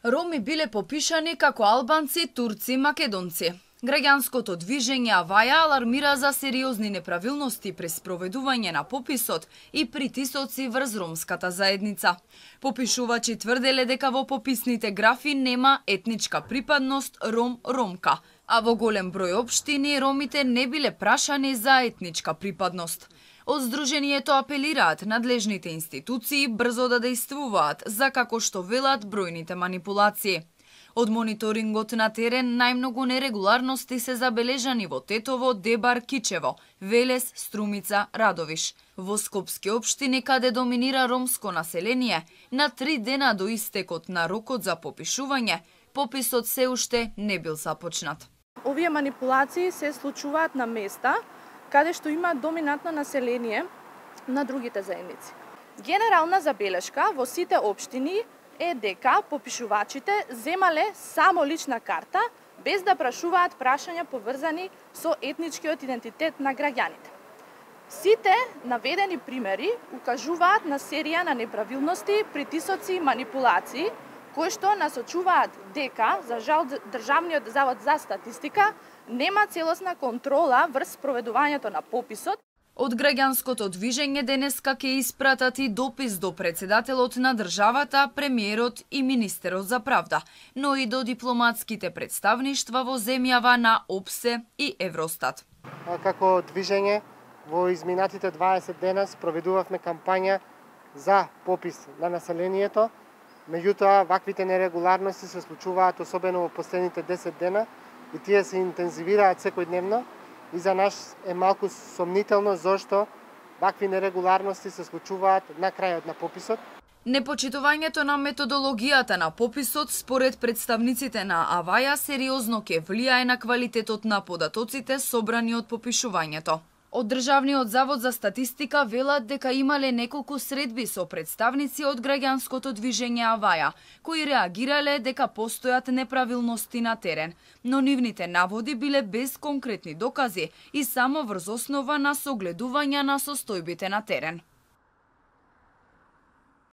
Роми биле попишани како албанци, турци, македонци. Граѓанското движење Аваја алармира за сериозни неправилности при спроведување на пописот и притисоци врз ромската заедница. Попишувачи тврделе дека во пописните графи нема етничка припадност ром-ромка, а во голем број општини ромите не биле прашани за етничка припадност. Од Сдруженијето апелираат надлежните институции брзо да действуваат за како што велат бројните манипулации. Од мониторингот на терен најмногу нерегуларности се забележани во Тетово, Дебар, Кичево, Велес, Струмица, Радовиш. Во скопски општини каде доминира ромско население, на 3 дена до истекот на рокот за попишување, пописот се уште не бил започнат. Овие манипулации се случуваат на места каде што има доминантно население на другите заедници. Генерална забелешка во сите општини е дека попишувачите земале само лична карта без да прашуваат прашања поврзани со етничкиот идентитет на граѓаните. Сите наведени примери укажуваат на серија на неправилности, притисоци и манипулации кои што насочуваат дека, за жал, Државниот завод за статистика нема целосна контрола врз проведувањето на пописот. Од граѓанското движење денеска ќе испратат и допис до председателот на државата, премиерот и министерот за правда, но и до дипломатските представништва во земјава на ОПСЕ и Евростат. Како движење во изминатите 20 дена спроведувавме кампања за попис на населението. Меѓутоа, ваквите нерегуларности се случуваат особено во последните 10 дена и тие се интензивираат секојдневно. И за нас е малку сомнително зошто вакви нерегуларности се случуваат на крајот на пописот. Непочитувањето на методологијата на пописот според представниците на Аваја сериозно ќе влијае на квалитетот на податоците собрани од попишувањето. Од Државниот завод за статистика велат дека имале неколку средби со представници од граѓанското движење Аваја, кои реагирале дека постојат неправилности на терен, но нивните наводи биле без конкретни докази и само врз основа на согледување на состојбите на терен.